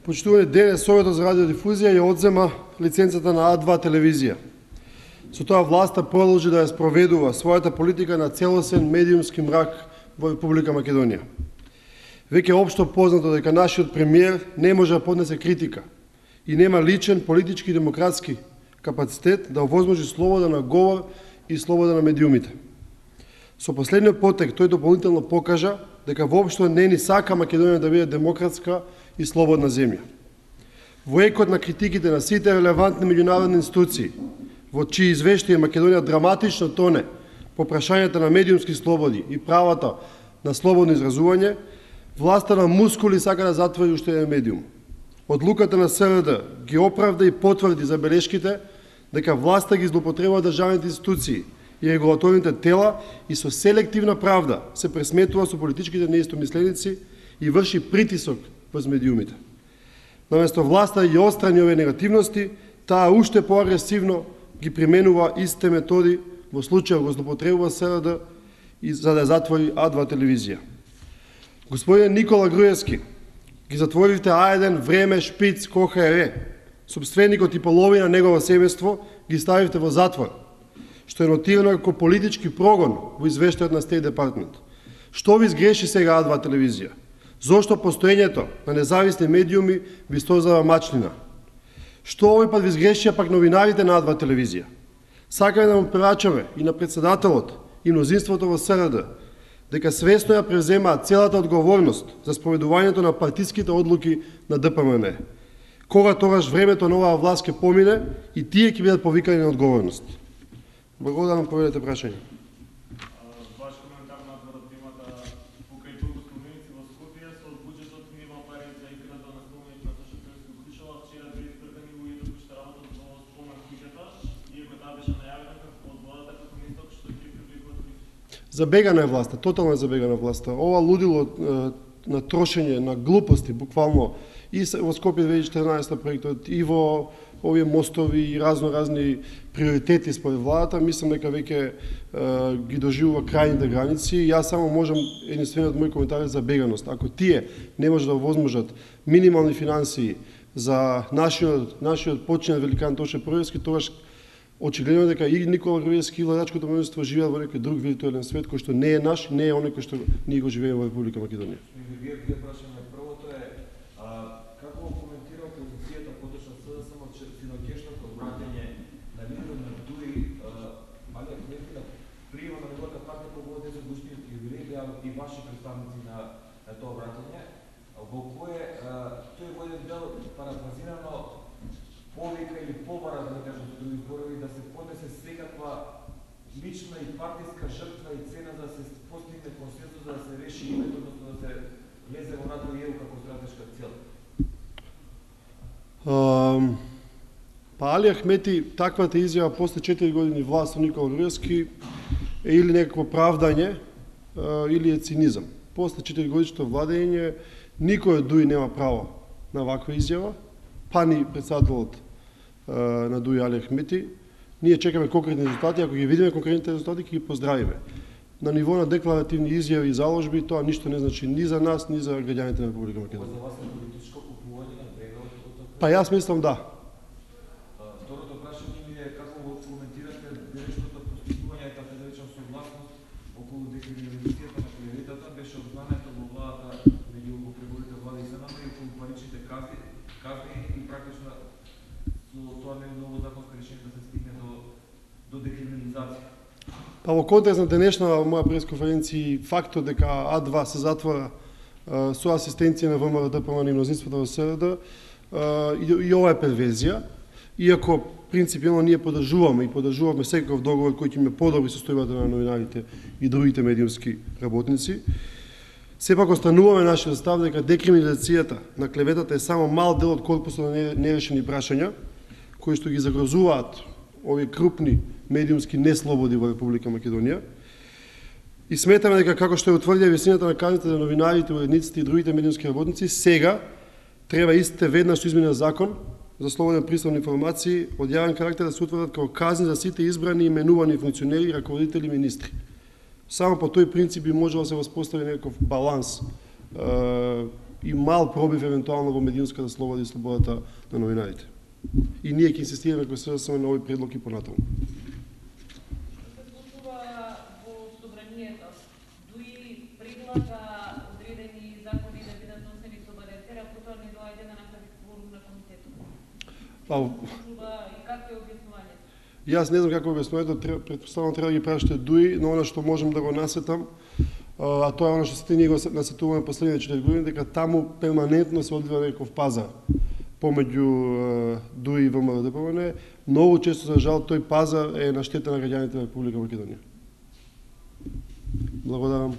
Почитувани денес Советот за радиодифузија ја одзема лиценцата на А2 телевизија. Со тоа власта продолжи да ја спроведува својата политика на целосен медиумски мрак во Република Македонија. Веќе е општо познато дека нашиот премиер не може да поднесе критика и нема личен политички и демократски капацитет да овозможи слобода на говор и слобода на медиумите. Со последниот потек тој дополнително покажа дека воопшто не ни сака Македонија да биде демократска и слободна земја. Во екот на критиките на сите релевантни меѓународни институции, во чии извештаи Македонија драматично тоне по прашањата на медиумски слободи и правата на слободно изразување, власта на мускули сака да затвори уште еден медиум. Одлуката на СРД ги оправда и потврди забелешките дека власта ги злоупотребува државните институции и регулаторните тела и со селективна правда се пресметува со политичките неистомисленици и врши притисок врз медиумите. Наместо власта да ги отстрани овие негативности, таа уште поагресивно ги применува истите методи, во случај го злоупотребува СРД и за да затвори А2 телевизија. Господин Никола Груевски, ги затворивте А1, Време, Шпиц, КХР, собственикот и половина негово семејство ги ставивте во затвор, што е нотирано како политички прогон во извештајот на Стејт Департмент. Што ви сгреши сега А2 телевизија? Зошто постоењето на независни медиуми ви стозава мачнина? Што овој пат ви сгрешија пак новинарите на А2 телевизија? Сакаме да му прерачаме и на председателот и мнозинството во СРД дека свесно ја преземаат целата одговорност за спроведувањето на партиските одлуки на ДПМН. Кога тогаш времето на оваа власт ќе помине и тие ќе бидат повикани на одговорност. Благодарам на поведете прашање. Ваш коментар на темата покрај толку споменици во Скопје со буџетот нема пари за играта на споменик на тоа што се случило вчера били тргани луѓето кои што работат во спомен куќата, иако таа беше најавена како од владата како место што ќе привлекува туристи. Забегана е власта, тотално е забегана власта. Ова лудило на трошење на глупости, буквално, и во Скопје 2014 проектот, и во овие мостови и разни приоритети според владата, мислам дека веќе ги доживува крајните граници. Јас само можам, единствениот мој коментар е за беганост. Ако тие не може да возможат минимални финансии за нашиот починат великан Тоше Проевски, тогаш очигледно дека и Никола Груевски и владачкото мнозинство живеат во некој друг виртуелен свет кој што не е наш, не е оној кој што ние го живееме во Република Македонија. Првото е како коментира опозицијата поточно само синокешното враќање на лидерот на ДУИ Али Ахмети на приема на неговата партија по повод 10 годишниот јубилеј и ваши представници на тоа враќање, во кое тој во еден дел парафразирано повика или побара, да не кажам со други зборови, да се поднесе секаква лична и партиска жртва и цена за да се постигне консензус, за да се реши името, односно да се влезе во НАТО и ЕУ како стратешка цел. Па Али Ахмети, таквата изјава после 4 години власт со Никола Груевски е или некакво правдање, или е цинизам. После 4 годишното владење никој од ДУИ нема право на ваква изјава, па ни председателот на ДУИ Али Ахмети. Ние чекаме конкретни резултати, ако ги видиме конкретните резултати, ќе ги поздравиме. На ниво на декларативни изјави и заложби, тоа ништо не значи ни за нас, ни за граѓаните на Република Македонија. За вас е политичко купување на брега од Па јас мислам да. Второто прашање ми е како го коментирате денешното постигнување, така да речем, согласност околу декриминализацијата на клеветата, беше одбрането во владата меѓу го преговорите влада и СНМ и околу паричните казни и практично со тоа не е ново законско решение да се стигне до декриминализација. Па во контекст на денешна моја пресконференција, фактот дека А2 се затвора со асистенција на ВМРО ДПМН и мнозинството во СРД, и ова е перверзија, иако принципијално ние поддржуваме секаков договор кој ќе има подобри состојбата на новинарите и другите медиумски работници. Сепак остануваме нашиот став дека декриминализацијата на клеветата е само мал дел од корпусот на нерешени прашања кои што ги загрозуваат овие крупни медиумски неслободи во Република Македонија. И сметаме дека како што е утврдија висината на казните за новинарите, уредниците и другите медиумски работници, сега треба истите веднаш со изменен закон за слободен пристап на информации од јавен карактер да се утврдат како казни за сите избрани и именувани функционери, раководители и министри. Само по тој принцип би можело да се воспостави некаков баланс и мал пробив евентуално во медиумската слобода и слободата на новинарите. И ние ќе инсистираме кој се на овој предлог и понатаму. Се случува во собранието, дуи предлага одредени закони да бидат носени со БДТ, а потоа не доаѓа да направи кворум на комитетот. Случува и какво е објаснувањето? Јас не знам како објаснувањето, претпоставувам треба да ги прашате дуи, но она што можем да го насетам, а тоа е она што сите ние го насетуваме последните 4 години, дека таму перманентно се одвива некој пазар помеѓу дуи и ВМРО-ДПМНЕ. Многу често, за жал, тој пазар е на штета на граѓаните на Република Македонија. Благодарам.